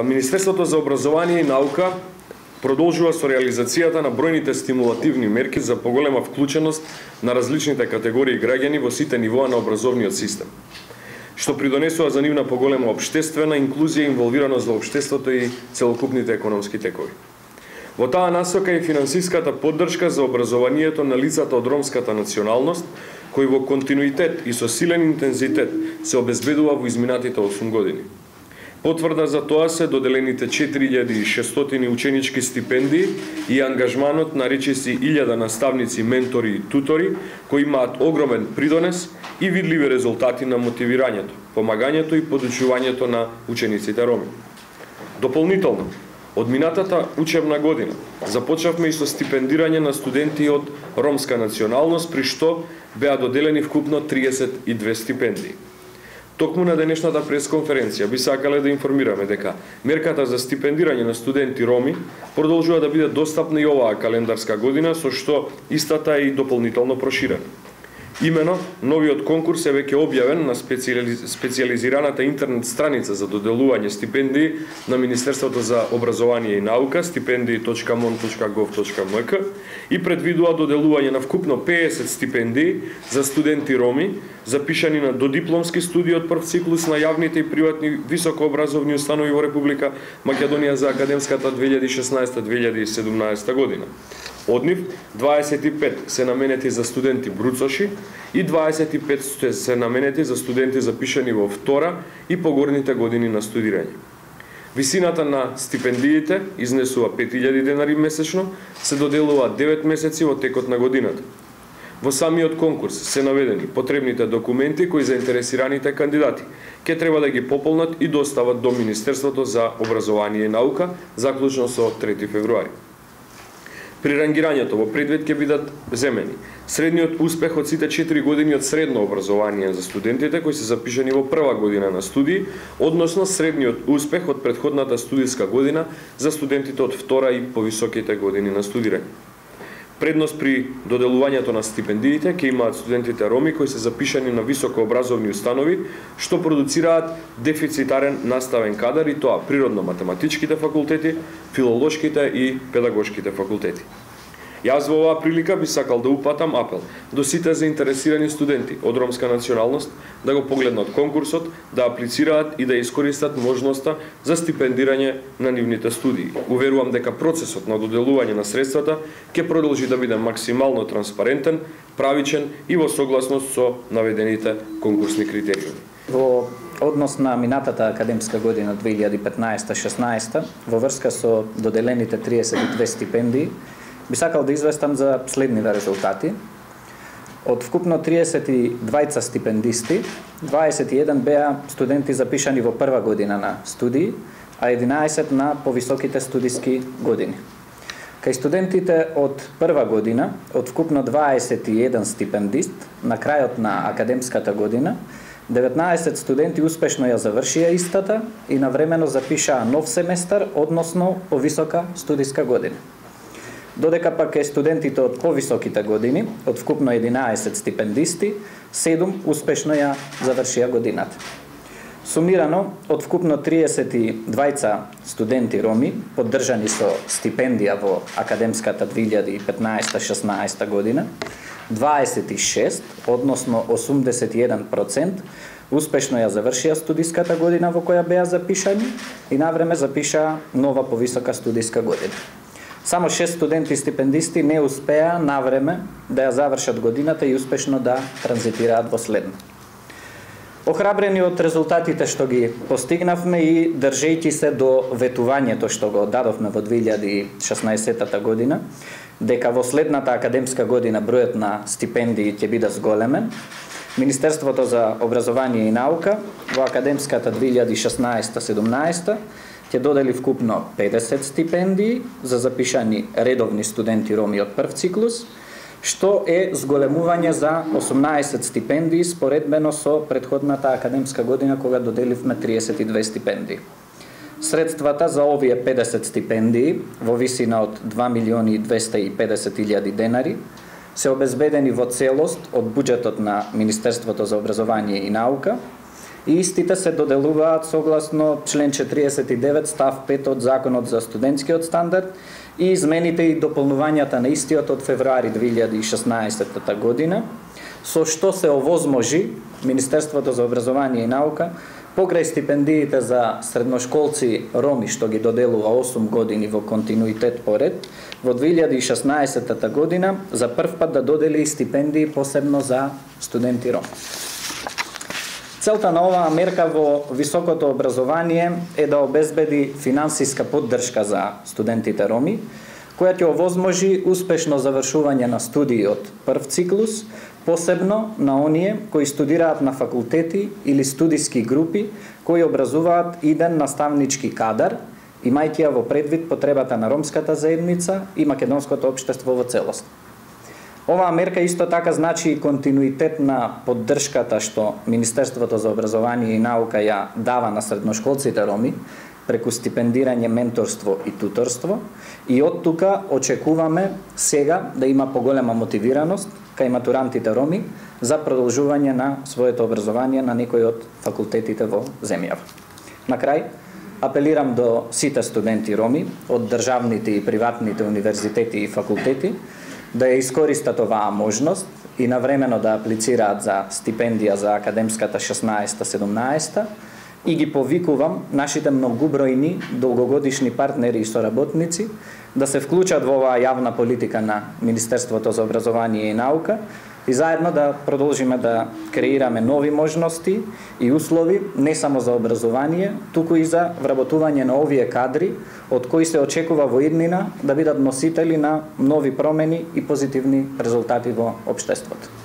Министерството за образование и наука продолжува со реализацијата на бројните стимулативни мерки за поголема вклученост на различните категории граѓани во сите нивоа на образовниот систем, што придонесува за нивна поголема општествена инклузија и инволвираност во општеството и целокупните економски текови. Во таа насока е финансиската поддршка за образованието на лицата од ромската националност, кои во континуитет и со силен интензитет се обезбедува во изминатите 8 години. Потврда за тоа се доделените 4600 ученички стипендии и ангажманот на речиси 1000 наставници, ментори и тутори, кои имаат огромен придонес и видливи резултати на мотивирањето, помагањето и подучувањето на учениците роми. Дополнително, од минатата учебна година започнавме и со стипендирање на студенти од ромска националност, при што беа доделени вкупно 32 стипендии. Токму на денешната пресконференција би сакале да информираме дека мерката за стипендирање на студенти роми продолжува да биде достапна и оваа календарска година, со што истата е и дополнително проширена. Имено, новиот конкурс е веќе објавен на специјализираната интернет страница за доделување стипендии на Министерството за образование и наука, stipendii.mon.gov.mk, и предвидува доделување на вкупно 50 стипендии за студенти роми, запишани на додипломски студии од прв циклус на јавните и приватни високообразовни установи во Република Македонија за академската 2016-2017 година. Од нив 25 се наменети за студенти бруцоши и 25 се наменети за студенти запишани во втора и погорните години на студирање. Висината на стипендиите изнесува 5000 денари месечно, се доделува 9 месеци во текот на годината. Во самиот конкурс се наведени потребните документи кои заинтересираните кандидати ќе треба да ги пополнат и достават до Министерството за образование и наука, заклучно со 3 февруари. При рангирањето во предвид ќе бидат земени средниот успех од сите 4 години од средно образование за студентите кои се запишани во прва година на студии, односно средниот успех од претходната студиска година за студентите од втора и повисоките години на студирање. Предност при доделувањето на стипендиите ќе имаат студентите роми кои се запишани на високообразовни установи, што продуцираат дефицитарен наставен кадар, и тоа природно-математичките факултети, филолошките и педагошките факултети. Јас во оваа прилика би сакал да упатам апел до сите заинтересирани студенти од ромска националност да го погледнат конкурсот, да аплицираат и да искористат можноста за стипендирање на нивните студии. Уверувам дека процесот на доделување на средствата ќе продолжи да биде максимално транспарентен, правичен и во согласност со наведените конкурсни критериуми. Во однос на минатата академска година 2015-16, во врска со доделените 32 стипендии, би сакал да известам за следниве резултати. Од вкупно 32 стипендисти, 21 беа студенти запишани во прва година на студии, а 11 на повисоките студиски години. Кај студентите од прва година, од вкупно 21 стипендист, на крајот на академската година, 19 студенти успешно ја завршија истата и навремено запишаа нов семестар, односно повисока студиска година. Додека пак е студентите од повисоките години, од вкупно 11 стипендисти, 7 успешно ја завршија годината. Сумирано, од вкупно 32 студенти роми, поддржани со стипендија во академската 2015-16 година, 26, односно 81%, успешно ја завршија студиската година во која беа запишани и навреме запишаа нова повисока студиска година. Само 6 студенти стипендисти не успеа навреме да ја завршат годината и успешно да транзитираат во следна. Охрабрени од резултатите што ги постигнавме и држејќи се до ветувањето што го дадовме во 2016 година, дека во следната академска година бројот на стипендии ќе биде зголемен, Министерството за образование и наука во академската 2016-17 ќе додели вкупно 50 стипендии за запишани редовни студенти роми од прв циклус, што е зголемување за 18 стипендии споредбено со претходната академска година кога доделивме 32 стипендии. Средствата за овие 50 стипендии во висина од 2.250.000 денари се обезбедени во целост од буџетот на Министерството за образование и наука и истите се доделуваат согласно член 49 став 5 од Законот за студентскиот стандард и измените и дополнувањата на истиот од февруари 2016 година, со што се овозможи Министерството за образование и наука покрај стипендиите за средношколци роми што ги доделува 8 години во континуитет поред, во 2016 година за прв пат да додели стипендии посебно за студенти роми. Целта на оваа мерка во високото образование е да обезбеди финансиска поддршка за студентите роми, која ќе овозможи успешно завршување на студии од прв циклус, посебно на оние кои студираат на факултети или студиски групи кои образуваат иден наставнички кадар, имајќи ја во предвид потребата на ромската заедница и македонското општество во целост. Оваа мерка исто така значи и континуитет на поддршката што Министерството за образование и наука ја дава на средношколците роми преку стипендирање, менторство и туторство, и од тука очекуваме сега да има поголема мотивираност кај матурантите роми за продолжување на своето образование на некои од факултетите во земјава. На крај, апелирам до сите студенти роми од државните и приватните универзитети и факултети да ја искористат оваа можност и навремено да аплицираат за стипендија за академската 16-17 и ги повикувам нашите многубројни долгогодишни партнери и соработници да се вклучат во оваа јавна политика на Министерството за образование и наука и заедно да продолжиме да креираме нови можности и услови не само за образование, туку и за вработување на овие кадри од кои се очекува во иднина да бидат носители на нови промени и позитивни резултати во општеството.